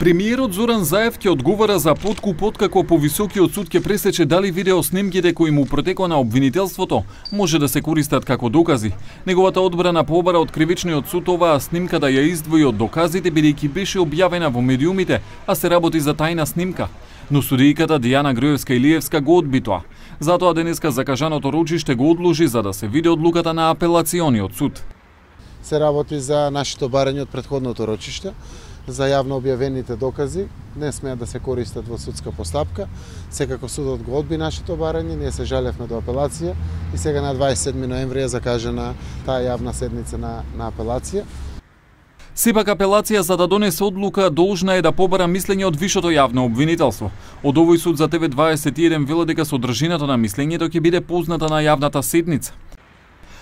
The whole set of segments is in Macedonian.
Премиерот Зоран Заев ќе одговара за подкупот како повисокиот суд ќе пресече дали видеоснимките кои му протекоа на обвинителството може да се користат како докази. Неговата одбрана побара од кривичниот суд оваа снимка да ја издвои од доказите бидејќи беше објавена во медиумите, а се работи за тајна снимка. Но судијката Дијана Груевска-Илиевска го одби тоа. Затоа денеска закажаното рочиште го одложи за да се види одлуката на апелациониот суд. Се работи за нашето барање од претходното рочиште, за јавно објавените докази, не смеат да се користат во судска постапка. Секако судот го одби нашето барање, ние се жалевме до апелација и сега на 27 ноември е закажана таа јавна седница на апелација. Сепак апелација за да донесе одлука должна е да побара мислење од вишето јавно обвинителство. Од овој суд за TV21 вела дека содржината на мислењето ќе биде позната на јавната седница.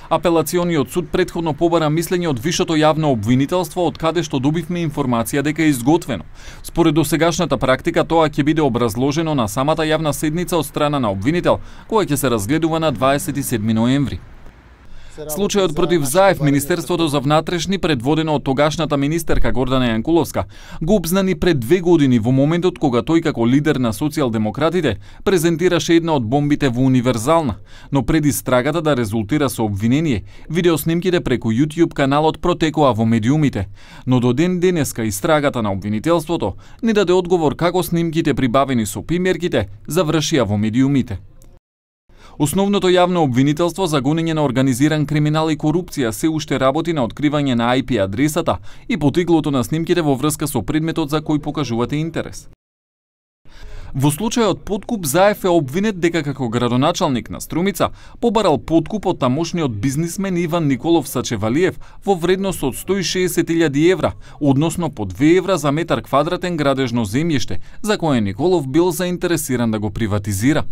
Апелациониот суд претходно побара мислење од вишето јавно обвинителство, од каде што добивме информација дека е изготвено. Според досегашната практика тоа ќе биде образложено на самата јавна седница од страна на обвинител, која ќе се разгледува на 27 ноември. Случајот против Заев, Министерството за внатрешни, предводено од тогашната министерка Гордана Јанкуловска, го обзнани пред 2 години во моментот кога тој како лидер на социјалдемократите презентираше една од бомбите во Универзална, но пред истрагата да резултира со обвинение, видеоснимките преку YouTube каналот протекоа во медиумите, но до ден денеска истрагата на обвинителството не даде одговор како снимките прибавени со примерките завршија во медиумите. Основното јавно обвинителство за гонење на организиран криминал и корупција се уште работи на откривање на IP адресата и потеглото на снимките во врска со предметот за кој покажувате интерес. Во случајот подкуп Заев е обвинет дека како градоначалник на Струмица побарал подкуп од тамошниот бизнисмен Иван Николов Сачевалиев во вредност од 160.000 евра, односно по 2 евра за метар квадратен градежно земјиште, за кое Николов бил заинтересиран да го приватизира.